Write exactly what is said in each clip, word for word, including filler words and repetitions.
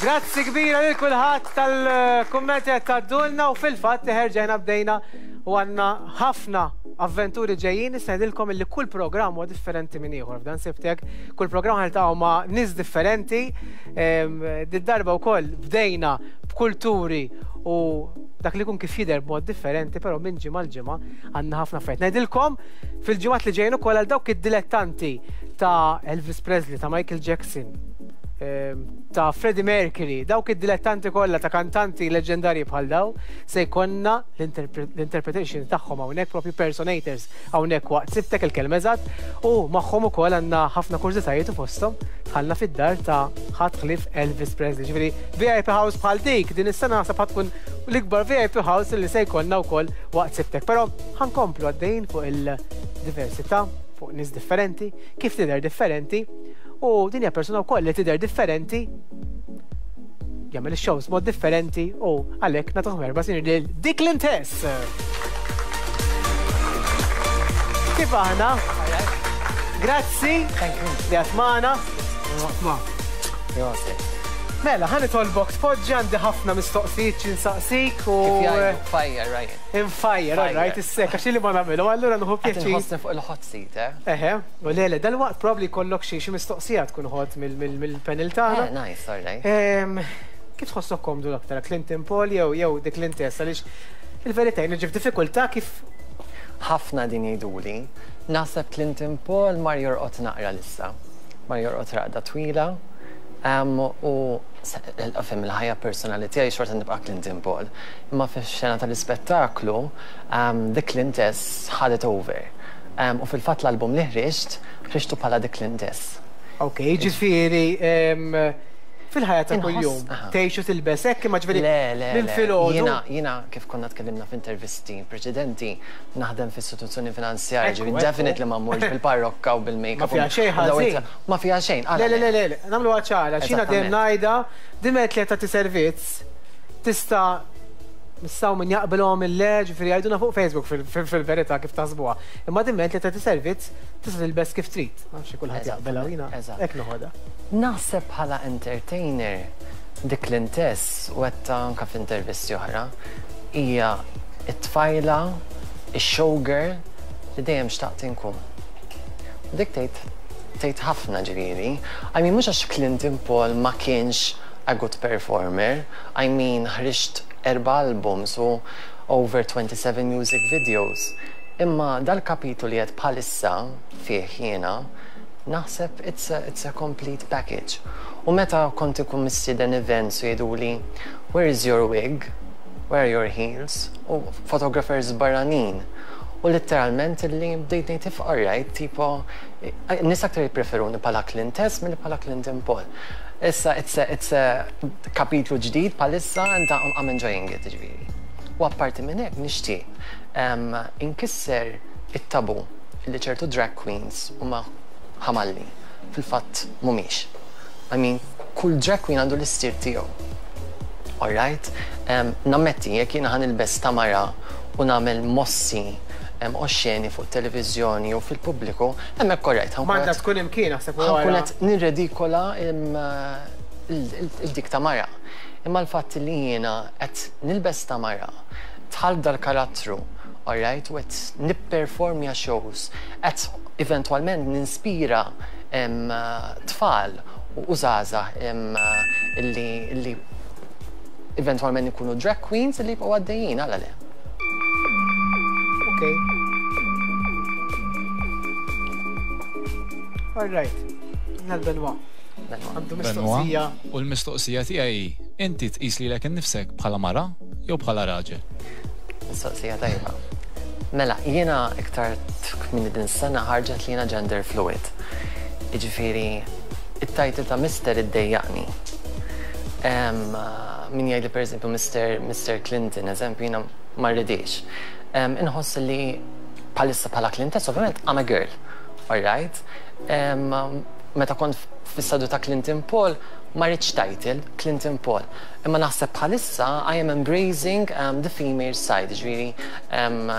Grazzi kbira lil kulħadd tal-kummenti qed tgħaddulna u fil-fatt erġajna bdejna u għandna ħafna avventuri ġejjin. Nista' ngħidilkom illi kull programm huwa differenti minn ieħor. F'dan Sibtek kull programm ħa niltaqgħu ma' nies differenti. Did-darba wkoll bdejna b'kulturi u dak li kun kif jidher b'mod differenti, però minn ġimgħa l-ġimgħa għandna ħafna affarijiet. Ngħidilkom fil-ġimgħat li ġejjin ukoll għal dawk id-dilettanti ta' Elvis Presley, ta' Michael Jackson, ta' Freddie Mercury, dawk id-dilettanti kollha ta' kantanti leġendarji bħal daw, se jkollna l-interpretation tagħhom hawnhekk, propju personators hawnhekk waqt Sibtek, il-kelma eżatt, u magħhom ukoll għandna ħafna kurżitajiet u fosthom dħalna fid-dar ta' ħadd ħlief Elvis Presley. Ġifieri V I P House bħal dik din is-sena naħseb tkun l-ikbar V I P House li se jkollna wkoll waqt Sibtek. Però ħa nkomplu għaddejjin fuq il-diversità, fuq nies differenti, kif tidher differenti, u din hija persuna wkoll li tidher differenti, jagħmel ix-shows mod differenti u għalhekk nagħtuh merħba sinjur lil The Clintess. Kif aħna? Grazzi li għat magħna. Mela, ħa nitolbok tpoġġi, għandi ħafna mistoqsijiet x'insaqsik u. Kif jgħidu, fire, Ryan. Infire, all right, issek, għax li ma nagħmlu, allura nieħu Qed pjaċir. inħossni fuq il-hot seat, eh? Eħe, u le, le, dal-waqt probably kollok xi xi mistoqsija tkun hot mill-panel tagħna. Eh, nice, all right. Em, Kif tħossok komdu l-aktar, Clinton Paul jew jew The Clintess, għaliex il-verità jien ġib diffikultà kif Ħafna din jgħiduli. Naħseb Clinton Paul mar jorqod naqra lissa. Mar jorqod raqda twila. Um, u fim il-ħajja personali tiegħi xorta nibqa' Clinton Paul. Imma fix-xena tal-ispettaklu, um, The Clintess had it over. Um, u fil-fatt l-album li ħriġt, ħriġtu bħala The Clintess. Ok, ġifieri em, fil-ħajja ta' Inħoss- kuljum aha. tgħixu tilbes hekk, imma ġifieri Le, le, minn le. filgħodu. Jiena, jiena kif konna tkellimna f'intervisti preċedenti, naħdem f'istituzzjoni finanzjarja, Ekku, ġifieri ekku. definitely ma mmurx bil-parrokka u bil-make-up. Ma fiha u- xejn u daw ħażin. it- Ma fiha xejn, għala Le, le, le, le, le, nagħmlu ċara, xina dejjem Eżattament. ngħidha, diment li tagħti servizz, tista' nistaw min jaqbilhom il-le, ġifieri jgħiduna fuq Facebook fil- fil- fil-verità kif taħsbuha. Imma diment li tagħti servizz, tista' tilbes kif trid. Ma nafx kulħadd jaqbelha jiena Eżatt. hekk noħodha. Naħseb bħala entertainer, The Clintess, u għedtha anka f'intervisti oħra, hija it-tfajla, ix-showgirl li dejjem xtaqt inkun. U dik tgħid tgħid ħafna ġifieri. I mean, mhux għax Clinton Paul ma kienx a good performer. I mean, ħriġt erba' albums u over twenty-seven music videos. Imma dal-kapitlu li qed bħalissa fih jiena, naħseb it's a, it's a complete package. U meta kont ikun mistieden events u jgħiduli, "Where is your wig? Where are your heels?" U photographers barranin. U literalment li bdejt ngħid if alright, tipo, nies aktar jippreferuni bħala Clintess milli bħala Clinton Paul. Issa, it's a, it's a kapitlu ġdid bħalissa and I'm, I'm enjoying it, ġifieri. U apparti minn hekk nixtieq um, inkisser it-tabu li ċertu drag queens huma ħamalli. Fil-fatt mhumiex. I mean, kull drag queen għandu l-istil tiegħu. Alright? Um, nammetti, jekk jiena ħa nilbes ta' mara u nagħmel mossi um, oxxeni fuq televizjoni u fil-pubbliku, hemmhekk alright. M'għandha tkun imkien naħseb Ħa nkun wara. qed nirredikola il-dik ta' mara. Imma l-fatt li jiena qed nilbes ta' mara, dħalt dal-karattru, alright, u qed nipperformja shows, qed eventwalment ninspira em, tfal u żgħażagħ em, illi illi eventwalment ikunu drag queens illi jibqgħu għaddejjin, għala le. Ok. All right. Nal Benoit. Benoit. Għandu Benoit, mistoqsija. u l-mistoqsija tiegħi, inti tqis lilek innifsek bħala mara jew bħala raġel? Mistoqsija tajba. Mela, jiena iktar minn din sena ħarġet li jiena gender fluid. Jiġifieri, it-title ta' Mister iddejjaqni. Em, Min jgħidli per eżempju Mister Mister Clinton, eżempju, jiena ma rridix. Em, Inħoss li bħalissa bħala Clintess, ovvjament I'm a girl, alright? Em, Meta kont fis-sadu ta' Clinton Paul, ma rridx title, Clinton Paul. Imma naħseb bħalissa I am embracing um, the female side, ġifieri, um,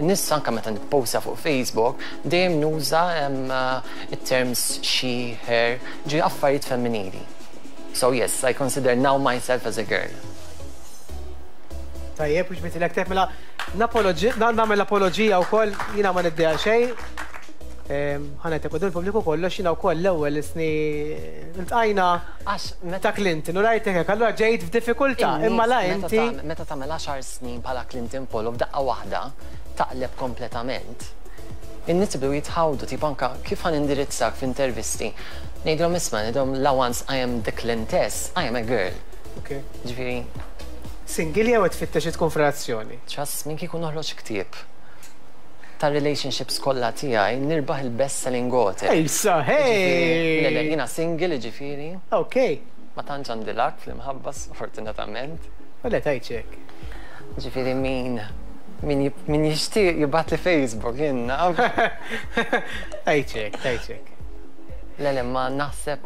nies anka meta nipposta fuq Facebook, dejjem nuża um, uh, it-terms she, her, ġifieri affarijiet femminili. So yes, I consider now myself as a girl. Tajjeb, biex bitilek tef mela nagħmel apoloġija wkoll jiena ma niddejja xejn. Ħa ngħidlek quddiem il-pubbliku kollox jiena wkoll l-ewwel isni ltqajna ta' Clinton u rajtek hekk, allura ġejt f'diffikultà, imma la inti. Meta tagħmel għaxar snin bħala Clinton Polo f'daqqa waħda taqleb kompletament. In-nies jibdew jitħawdu, tipo anka kif ħa nindirizzak f'intervisti. Ngħidilhom isma', ngħidilhom la once I am the Clintess, I am a girl. Okay. Ġifieri. Single jew qed tfittex tkun f'relazzjoni? Trust me, kieku noħroġ ktieb ta' relationships kollha tiegħi nirbaħ il-best selling author. Ejsa, hey! Le, le, jiena single, ġifieri. Okay. Ma tantx għandi luck fl-imħabba, sfortunatament. Le tgħidx hekk. Ġifieri min min min jixtieq jibgħat li Facebook jien naf. Tgħidx hekk, tgħidx hekk. Le, le, ma naħseb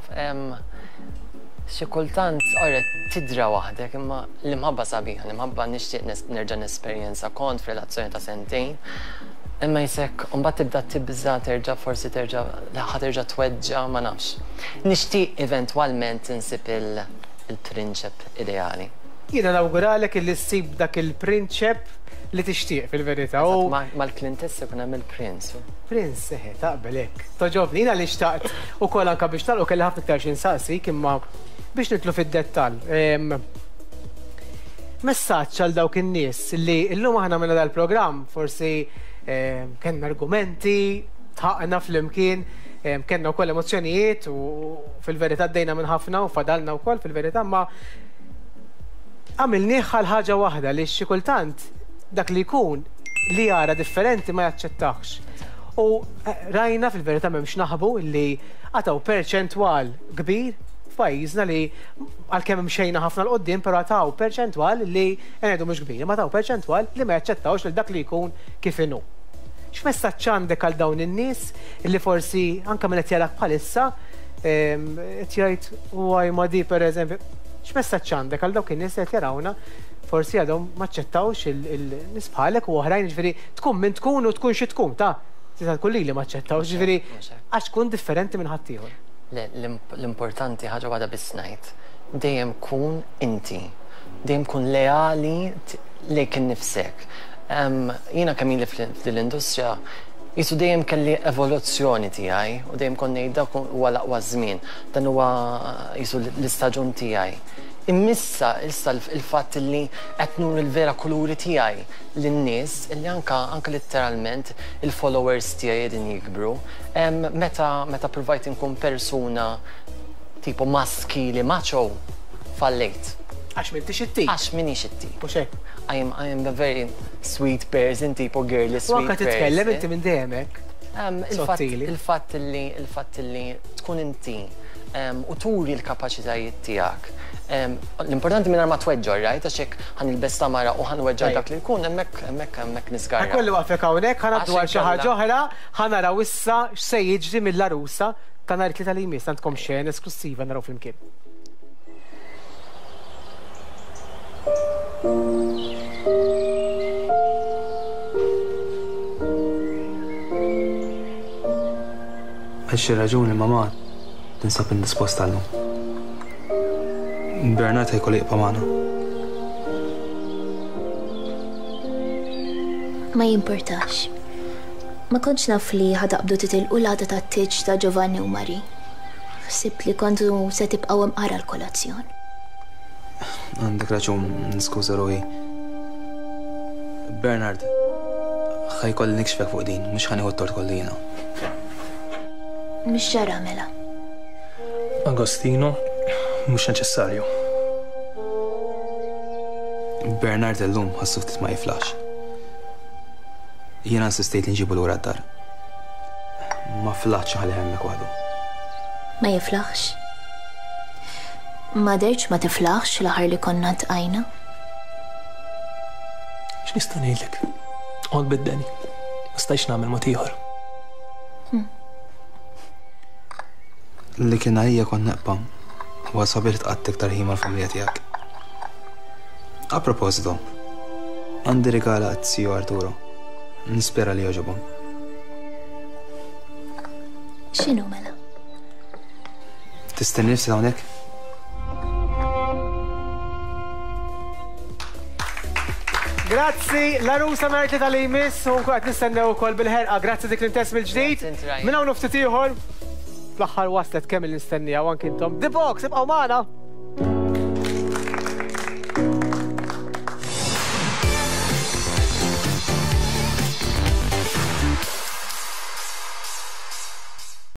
xi kultant ora tidra waħdek, imma l-imħabba sabiħa, l-imħabba nixtieq nerġa' nesperjenza. Kont f'relazzjoni ta' sentejn. Imma jisek, mbagħad tibda tibża terġa' forsi terġa' ħa terġa' tweġġa', ma nafx. Nixtieq eventwalment insib il-prinċep ideali. Jiena nawguralek illi ssib dak il-prinċep li tixtieq fil-verità. Mal-Clintess ikun hemm il-prince. Prince, eħe, taqbel hekk. Toġobni, jiena li xtaqt ukoll anke biex nagħlqu kelli ħafna iktar xi nsaqsik, imma biex nidħlu fid-dettall. Messaġġ għal dawk in-nies li llum aħna minna dal-programm forsi kellna argumenti, tħaqna flimkien, kellna wkoll emozzjonijiet u fil-verità għaddejna minn ħafna u fadalna wkoll fil-verità, ma għamilnieh għal ħaġa waħda li xi kultant dak li jkun li jara differenti ma jaċċettax. U rajna fil-verità m'hemmx naħbu li għataw perċentwal kbir f'pajjiżna li għalkemm imxejna ħafna 'l quddiem, però għataw perċentwal li ngħidu mhux kbir, ma taw perċentwal li ma jaċċettawx lil dak li jkun kif inhu. X'messaġġ għandek għal dawn in-nies li forsi anke min qed jarak bħalissa qed jgħid waj ma di pereżempju, x'messaġġ għandek għal dawk in-nies li qed jarawna forsi għadhom ma aċċettawx il-nies bħalek u oħrajn, ġifieri tkun min tkun u tkun xi tkun ta' tista' tkun lili ma aċċettawx, ġifieri għax tkun differenti minn ħaddieħor. Le, l-importanti ħaġa waħda biss ngħid, dejjem kun inti, dejjem kun leali lejk innifsek. Jiena kemm ili fl-industrija, jisu dejjem kelli evoluzzjoni tiegħi u dejjem kont ngħid dak huwa l-aqwa żmien, dan huwa jisu l-istaġun tiegħi. Immissa issa il-fatt li qed nur il-vera kuluri tiegħi lin-nies illi anka anka letteralment il-followers tiegħi qegħdin jikbru. Meta meta provajt inkun persuna tipo maskili macho, fallejt. Għax m'intix it-tip. Għax minix it-tip. Mhux hekk. I am, I am a very sweet person, tipo girly sweet person. U anka titkellem inti minn dejjem hekk. Il-fatt li il-fatt li tkun inti u turi l-kapaċitajiet tiegħek. L-importanti minn ma tweġġor, right? Għax hekk ħa nilbes ta' mara u ħa nweġġor dak li jkun, hemmhekk hemmhekk hemmhekk niskarra. Kollu waqfek hawnhekk, ħa ngħaddu għal xi ħaġa oħra, ħa naraw issa x'se jiġri mill-għarusa ta' nhar it-Tlieta li jmiss, għandkom xena esklussiva naraw flimkien. Għal xi raġuni mamà tinsab indisposta llum. Bernard ħajkollu jibqa' magħna. Ma jimportax. Ma kontx naf li ħadaqbdu titilqu l-għada tat-tieġ ta' Giovanni u Mari. Ħsibt li kontu se tibqgħu imqara l-kolazzjon. Għandek raġun, niskuża ruħi. Bernard, ħajkolli nikxfek fuq din, mhux ħa nieħu t-tort kollu jiena. Mhix ġara mela. Agostino, mhux neċessarju. Bernard illum ħassu ftit ma jiflax. Jiena insistejt li nġibu lura d-dar. Ma flaħx ħalli hemmhekk waħdu. Ma jiflaħx? Ma derċ ma tiflaħx l-aħħar li konna tqajna? X'nista' ngħidlek? Qod biddeni. Ma stajx nagħmel mod ieħor. Li kien għalija kont neqpa' huwa sabiħ tqatt iktar ħin mal-familja tiegħek. A proposito, għandi rigal għat-Zio Arturo. Nispera li jogħġobhom. X'inhu mela? Tistenni nifsi hawnhekk? Grazzi, l-għarusa nhar it-Tlieta li jmiss, u nkun qed nistennew ukoll bil-ħerqa. Grazzi dik l-intess mill-ġdid. Grazzi, Ryan. Minn hawn ftit ieħor, fl-aħħar waslet kemm il-nistennija u anki intom. The Box, ibqgħu magħna.